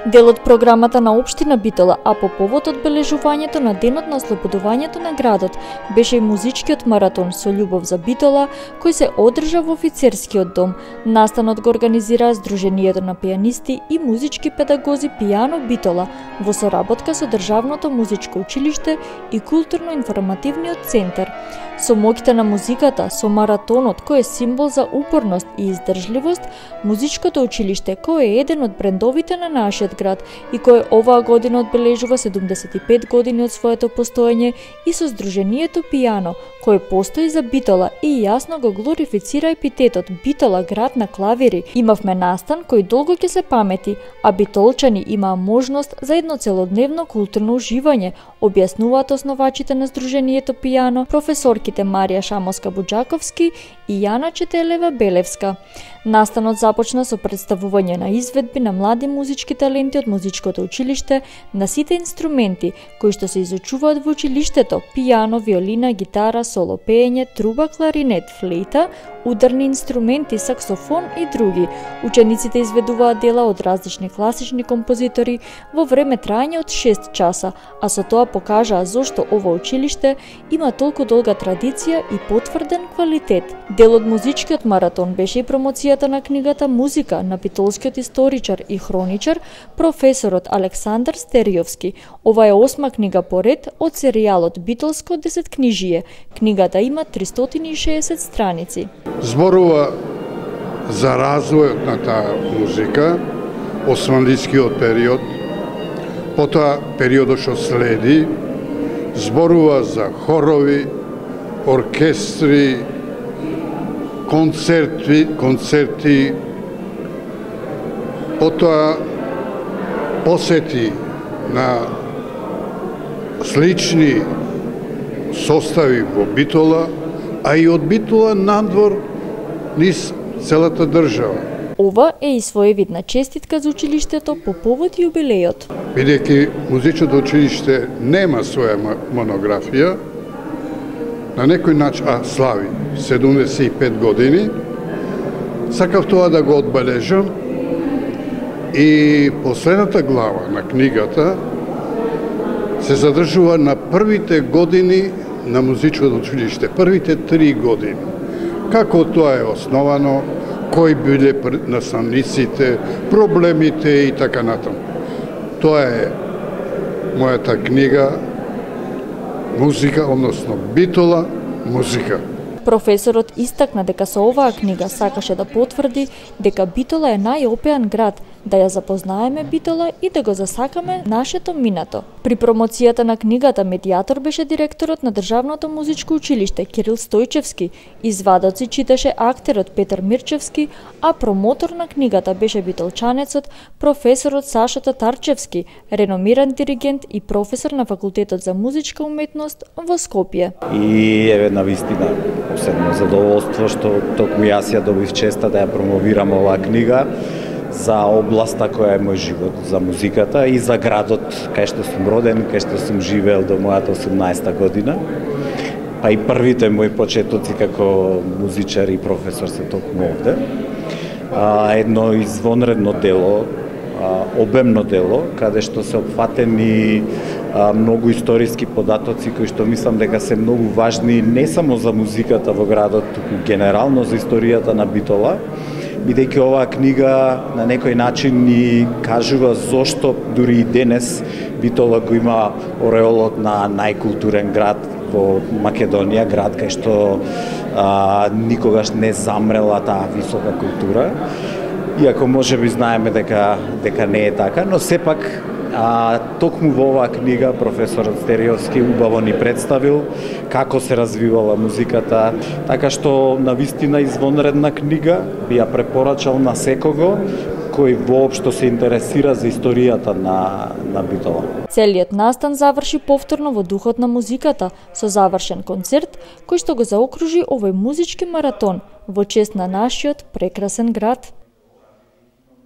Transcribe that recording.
Дел од програмата на општина Битола, а по повод одбележувањето на денот на ослободувањето на градот, беше и музичкиот маратон со љубов за Битола, кој се одржа во офицерскиот дом. Настанот го организираа Сдруженијето на пијанисти и музички педагози Пијано Битола во соработка со Државното музичко училиште и Културно-информативниот центар. Со моќта на музиката, со маратонот кој е символ за упорност и издржливост, музичкото училиште кој е еден од брендовите на нашиот град и кој оваа година одбележува 75 години од своето постоење, и со Сдруженијето Пијано, кој постои за Битола и јасно го глорифицира епитетот Битола град на клавири. Имавме настан кој долго ќе се памети, а битолчани имаа можност за едно целодневно културно уживање, објаснуваат основачите на Сдруженијето Пијано, професорките Марија Шамовска-Буџаковски и Јана Четелева-Белевска. Настанот започна со представување на изведби на млади музички таленти од музичкото училиште на сите инструменти кои што се изучуваат во училиштето: пијано, виолина, гитара, соло пеење, труба, кларинет, флейта, ударни инструменти, саксофон и други. Учениците изведуваат дела од различни класични композитори во време трајање од 6 часа, а со тоа покажаа зошто ова училиште има толку долга традиција и потврден квалитет. Дел од музичкиот маратон беше и промоцијата на книгата Музика на битолскиот историчар и хроничар професорот Александар Стериовски. Ова е 8-ма книга по ред од серијалот Битолско десеткнижие. Книгата има 360 страници. Зборува за развојот на таа музика, османлискиот период, потоа периодот што следи, зборува за хорови, оркестри, концерти, потоа посети на слични состави во Битола, а и од Битола надвор низ целата држава. Ова е и своевидна честитка за училиштето по повод јубилејот. Бидејќи музичкото училиште нема своја монографија, на некој начин слави 75 години, сакав тоа да го одбележам, и последната глава на книгата се задржува на првите години на музичкото училиште, првите 3 години. Како тоа е основано, кои биле наставниците, проблемите и така натаму. Тоа е мојата книга Музика, односно Битола, музика. Професорот истакна дека со оваа книга сакаше да потврди дека Битола е најопеан град, да ја запознаеме Битола и да го засакаме нашето минато. При промоцијата на книгата медијатор беше директорот на Државното музичко училиште Кирил Стојчевски, извадоци читаше актерот Петар Мирчевски, а промотор на книгата беше битолчанецот професорот Саша Татарчевски, реномиран диригент и професор на Факултетот за музичка уметност во Скопје. И еве навистина посебно задоволство што токму јас ја добив честа да ја промовирам оваа книга за областа која е мој живот, за музиката и за градот кај што сум роден, кај што сум живеел до мојата 18-та година. Па и првите мои почетоци како музичар и професор се токму овде. Едно извонредно дело, обемно дело, каде што се опфатени многу историски податоци кои што мислам дека се многу важни не само за музиката во градот, туку генерално за историјата на Битола, бидејќи оваа книга на некој начин ни кажува зошто дури и денес Битола го има ореолот на најкултурен град во Македонија, град кај што никогаш не замрела таа висока култура. Иако можеби знаеме дека не е така, но сепак токму во оваа книга професорот Стериовски убаво ни представил како се развивала музиката, така што навистина извонредна книга, би ја препорачал на секого кој воопшто се интересира за историјата на Битола. Целиот настан заврши повторно во духот на музиката со завршен концерт кој што го заокружи овој музички маратон во чест на нашиот прекрасен град.